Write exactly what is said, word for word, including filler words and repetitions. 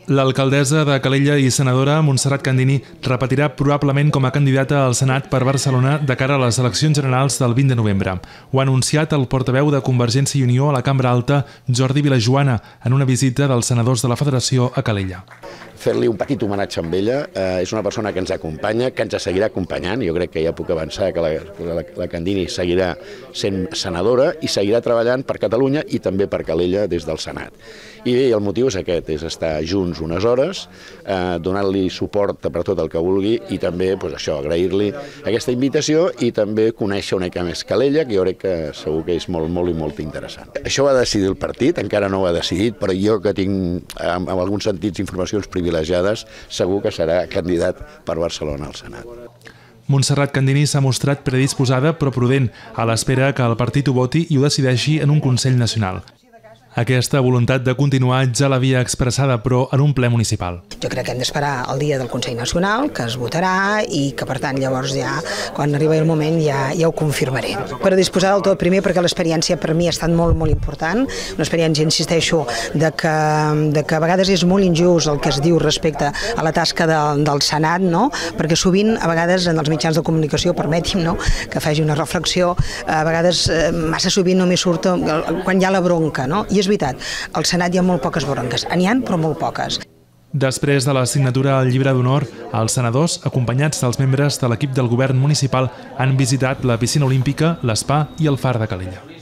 L'alcaldessa de Calella i senadora Montserrat Candini repetirà probablement com a candidata al Senat per Barcelona de cara a les eleccions generals del vint de novembre. Ho ha anunciat el portaveu de Convergència i Unió a la Cambra Alta, Jordi Vilajoana, en una visita dels senadors de la Federació a Calella. Fer-li un petit homenatge amb ella. Eh, és una persona que ens acompanya, que ens seguirà acompanyant. Jo crec que ja puc avançar que la, la, la Candini seguirà sent senadora i seguirà treballant per Catalunya i també per Calella des del Senat. I bé, el motiu és aquest, és estar junts unes hores, eh, donant-li suport per tot el que vulgui i també, doncs això, agrair-li aquesta invitació i també conèixer una mica més Calella, que jo crec que segur que és molt, molt i molt interessant. Això ho ha decidit el partit, encara no ho ha decidit, però jo que tinc, en, en alguns sentits, informacions privilegiades, segur que serà candidat per Barcelona al Senat. Montserrat Candini s'ha mostrat predisposada però prudent, a l'espera que el partit ho voti i ho decideixi en un Consell Nacional. Aquesta voluntat de continuar ja l'havia expressada, però en un ple municipal. Jo crec que hem d'esperar el dia del Consell Nacional, que es votarà i que, per tant, llavors ja, quan arribi el moment, ja, ja ho confirmaré. Predisposar del tot, primer, perquè l'experiència per mi ha estat molt, molt important. Una experiència, insisteixo, de que, de que a vegades és molt injust el que es diu respecte a la tasca de, del Senat, no? Perquè sovint, a vegades, en els mitjans de comunicació, permeti'm, no?, que faci una reflexió, a vegades, massa sovint només surt quan hi ha la bronca, no? I és veritat, al Senat hi ha molt poques bronques, n'hi ha però molt poques. Després de la signatura al llibre d'honor, els senadors, acompanyats dels membres de l'equip del govern municipal, han visitat la piscina olímpica, l'espa i el far de Calella.